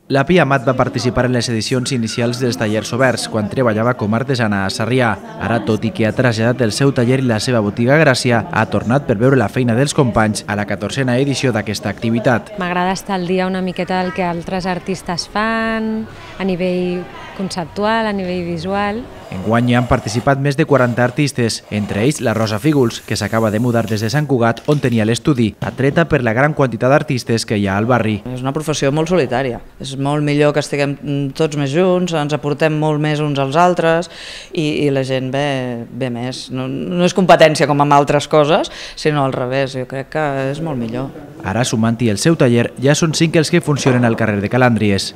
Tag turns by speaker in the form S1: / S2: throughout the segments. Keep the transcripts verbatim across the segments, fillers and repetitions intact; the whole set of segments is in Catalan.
S1: La Pia Amat va participar en les edicions inicials dels tallers oberts quan treballava com a artesana a Sarrià. Ara, tot i que ha traslladat el seu taller i la seva botiga a Gràcia, ha tornat per veure la feina dels companys a la catorzena edició d'aquesta activitat.
S2: M'agrada estar al dia una miqueta del que altres artistes fan, a nivell conceptual, a nivell visual.
S1: Enguany hi han participat més de quaranta artistes, entre ells la Rosa Fígols, que s'acaba de mudar des de Sant Cugat, on tenia l'estudi, atreta per la gran quantitat d'artistes que hi ha al barri.
S3: És una professió molt solitària. És molt millor que estiguem tots més junts, ens aportem molt més uns als altres i, i la gent ve, ve més. No, no és competència com amb altres coses, sinó al revés. Jo crec que és molt millor.
S1: Ara, sumant-hi el seu taller, ja són cinc els que funcionen al carrer de Calàndries.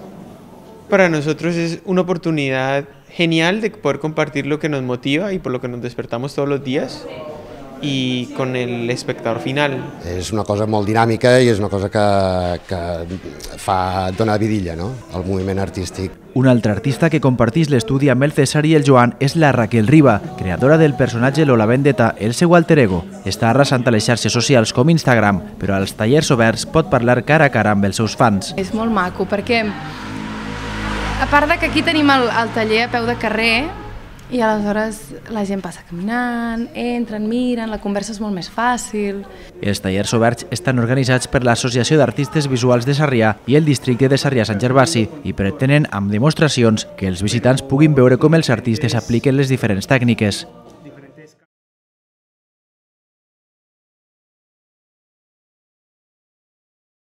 S4: Para nosotros es una oportunidad genial de poder compartir lo que nos motiva y por lo que nos despertamos todos los días y con el espectador final.
S5: És una cosa molt dinàmica i és una cosa que, que fa donar vidilla, no?, al moviment artístic.
S1: Un altre artista que compartís l'estudi amb el César i el Joan és la Raquel Riba, creadora del personatge Lola Vendetta, el seu alter ego. Està arrasant a les xarxes socials com Instagram, però als tallers oberts pot parlar cara a cara amb els seus fans.
S6: És molt maco perquè, a part de que aquí tenim el, el taller a peu de carrer, i aleshores la gent passa caminant, entren, miren, la conversa és molt més fàcil.
S1: Els tallers oberts estan organitzats per l'Associació d'Artistes Visuals de Sarrià i el districte de Sarrià-Sant Gervasi i pretenen, amb demostracions, que els visitants puguin veure com els artistes apliquen les diferents tècniques.